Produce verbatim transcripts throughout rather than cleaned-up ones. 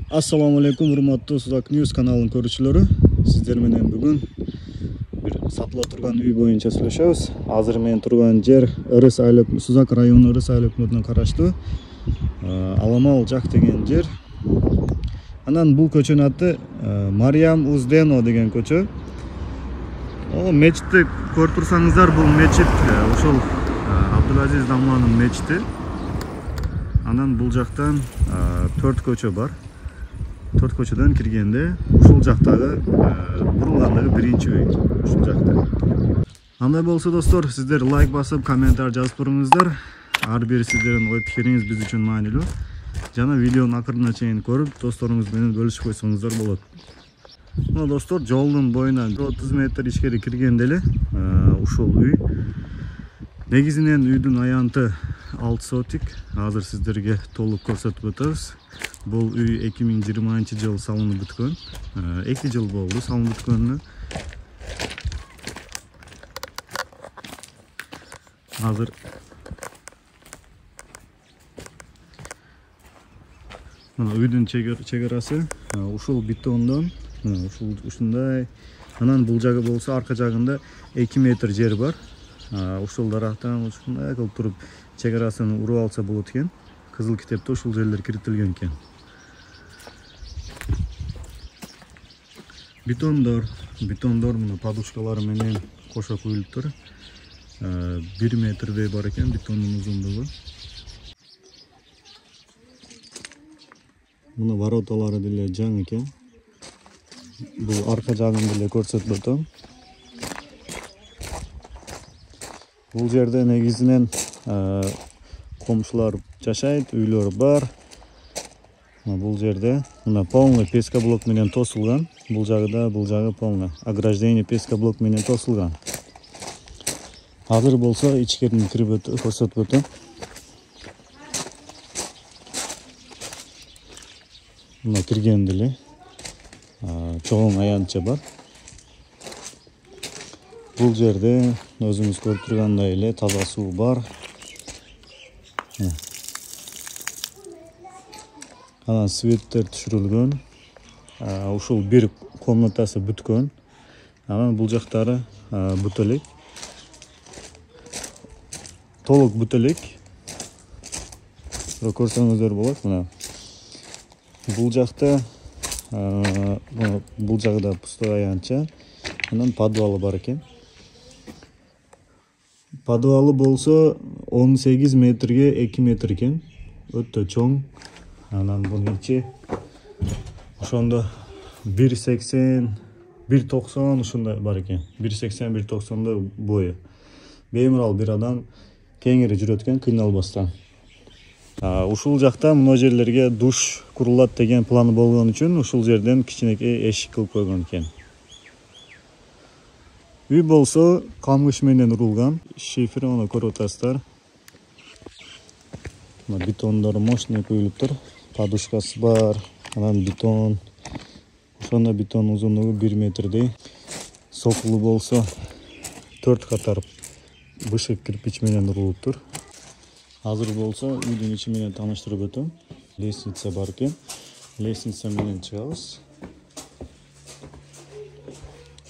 Assalamu alaikum, урматтуу Suzak News каналынын көрүүчүлөрү. Сиздер менен бүгүн бир сатыла турган үй боюнча сүйлөшөбүз. Азыр мен турган жер Ырыс айлык Suzak району Ырыс айлык өкмөтүнө караштуу Аламал жак деген жер. Анан бул көчөнүн аты Мариям Уздено деген көчө. О, мечитти көрүп турсаңыздар, бул мечит ошол Абдулазиз Дамланын мечити. Анан бул жактан төрт көчө бар. төрт көчөдөн киргенде ушул жактагы бурулгандагы биринчи үй ушул жакта. Андай болсо достор, сиздер лайк басып, комментарий жазып туруңуздар. Ар бир сиздердин ой пикириңиз биз үчүн маанилүү. Жана видеону акырына чейин көрүп, досторуңуз менен бөлүшүп койсоңуздар болот. Мына достор, жолдун боюна отуз метр ичкери киргенде эле ушул үй. Негизинен үйдүн аянты алты сотик. Азыр сиздерге толук көрсөтүп өтөбүз. Бул үй эки миң жыйырманчы жыл салынып бүткөн. эки жыл болду салынып бүткөнүнө. Азыр мына үйдүн чегарасы ушул бетондон, ушул ушундай. Анан бул жагы болсо арка жагында эки метр жер бар. Ушул дарактан ушундай кылып туруп чегарасын уруп алса болот экен. Кызыл китепте ушул жерлер киритилген экен. Бетондор, бетондор мына подушкалары менен кошо куюлуптур. бир метрдей бар экен бетондун узундугу. Мына вороталары деле жаңы экен. Бул арка жагын деле көрсөтүп өтөм. Бул жерде негизинен комшулар жашайт, үйлөр бар. Бул жерде мына полный пескоблок менен тосулган. Бул жагыда, бул жагы полный ограждение пескоблок менен тосулган. Азыр болсо ичкериден кирип өтүп көрсөтүп өтөм. Мына киргенде эле чоң аянтча бар. Бул жерде өзүңүз көрүп тургандай эле таза суу бар. Анан светтер түшүрүлгөн. Ушул бир комнатасы бүткөн. Анан бул жактары бүтө элек. Толук бүтө элек. Көрсөңүздөр болот мына. Бул жакта бул жагда пустой аянтча. Анан подвалы бар экен. Подвалы болсо он сегиз метрге эки метр экен. Өтө чоң. Анан бунун ичи ошондо бир сексен, бир токсон ушундай бар экен. бир сексен, бир токсондой бою. Беймурал бир адам кеңири жүрөт экен, кыйналбастан. Ушул жакта мына жерлерге душ курулат деген планы болгон үчүн ушул жерден кичинекей эшик кылып койгон экен. Үй болсо камыш менен урулган. Шифер аны көрүп атасыздар. Мына бетондору мощный куюлуптур. Подушкасы бар. Анан бетон. Ошондо бетон узундугу бир метрдей. Сокулу болсо төрт катар бышык кирпич менен урулуптур. Азыр болсо үйдүн ичи менен тааныштырып өтөм. Лестница бар экен. Лестница менен чыгабыз.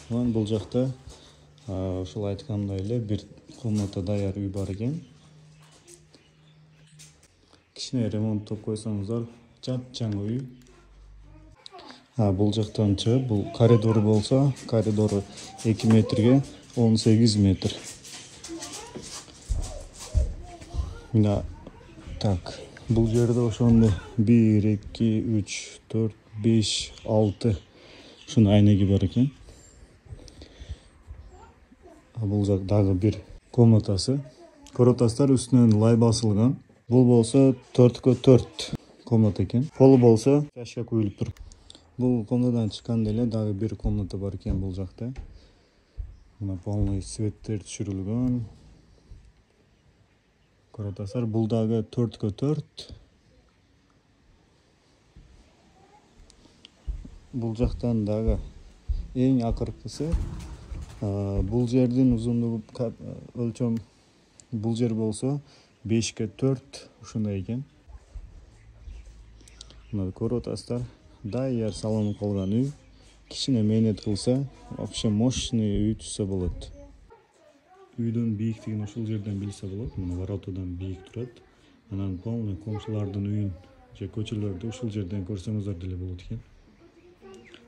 Анан бул жакта ошол айткандай эле бир комната даяр үй бар экен. Кичине ремонттоп койсоңуздар, жап-жаңы үй. Бул жактан чыгып, бул коридор болсо, коридору эки метрге он сегиз метр. Мына так, бул жерде ошондо бир, эки, үч, төрт, беш, алты ушундай айнеги бар экен. Бул жак дагы бир комнатасы. Көрүп атасыздар, үстүнөн лай басылган. Бул болсо төрткө төрт комната экен. Полу болсо жашка куюлуптур. Бул комнатадан чыкканда эле дагы бир комната бар экен бул жакта. Мына полный светтер түшүрүлгөн. Көрүп атасыздар, бул дагы төрткө төрт. Бул жактан дагы эң акыркысы бул жердин узундугу өлчөм бул жер болсо бешке төрт ушундай экен. Мына көрүп атасыздар. дайыр салынып калган үй. Кичине мээнет кылса, вообще мощный үй түзсө болот. Үйдүн бийиктигин ушул жерден билсе болот. Мына воротадан бийик турат. Анан полный комшулардын үйүн же көчөлөрдү ушул жерден көрсөңүздөр деле болот экен.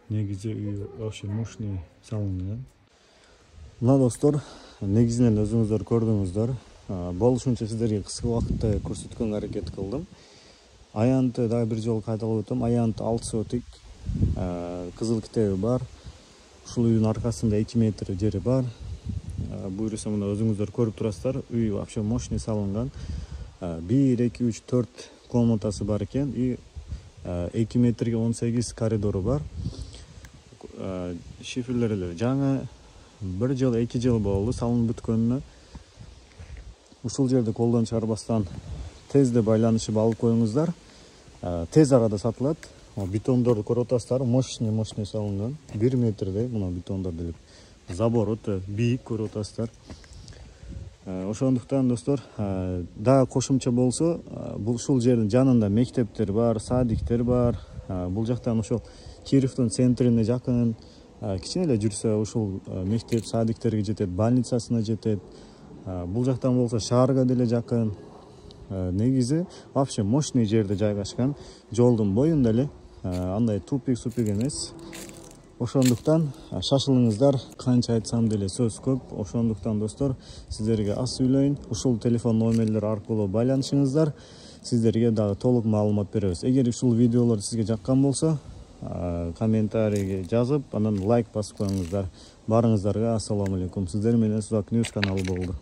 Негизи үй вообще мощный салынган. Мына достор, негизинен өзүңүздөр көрдүңүздөр. Болушунча сиздерге кыска убакытта көрсөткөнгө аракет кылдым. Аянты дагы бир жолу кайталап өтөм. Аянт алты сотик, кызыл китеби бар. Ушул үйдүн аркасында эки метр жери бар. Буюрса мына өзүңүздөр көрүп турасыздар. Үй вообще мощный салынган. бир, эки, үч, төрт комнатасы бар экен. И эки метрге он сегиз коридору бар. Шифрлери жаңы бир жыл, эки жыл болду салынып бүткөнүнө. Ушул жерди колдон чыгарбастан тезде байланышып алып коюңуздар. Тез арада сатылат. Бетондорду көрүп атасыздар, мощный мощный салынган. бир метрдей мына бетондор делип. Забор өтө бийик көрүп атасыздар. Ошондуктан достор, дагы кошумча болсо, бул ушул жердин жанында мектептер бар, садиктер бар. Бул жактан ошол Кировдун центрине жакын, кичине эле жүрсө ушул мектеп, садиктерге жетет, больницасына жетет. Бул жактан болсо шаарга деле жакын. Негизи вообще мощный жерде жайгашкан, жолдун боюнда эле, андай тупик-супик эмес. Ошондуктан шашылыңыздар, канча айтсам деле сөз көп. Ошондуктан достор, сиздерге аз сүйлөйүн, ушул телефон номерлер аркылуу байланышыңыздар. Сиздерге дагы толук маалымат беребиз. Эгер ушул видеолор сизге жаккан болсо, комментарийге жазып, анан лайк басып коюңуздар. Барыңыздарга ассаламу алейкум. Сиздер менен Сузак News каналы болду.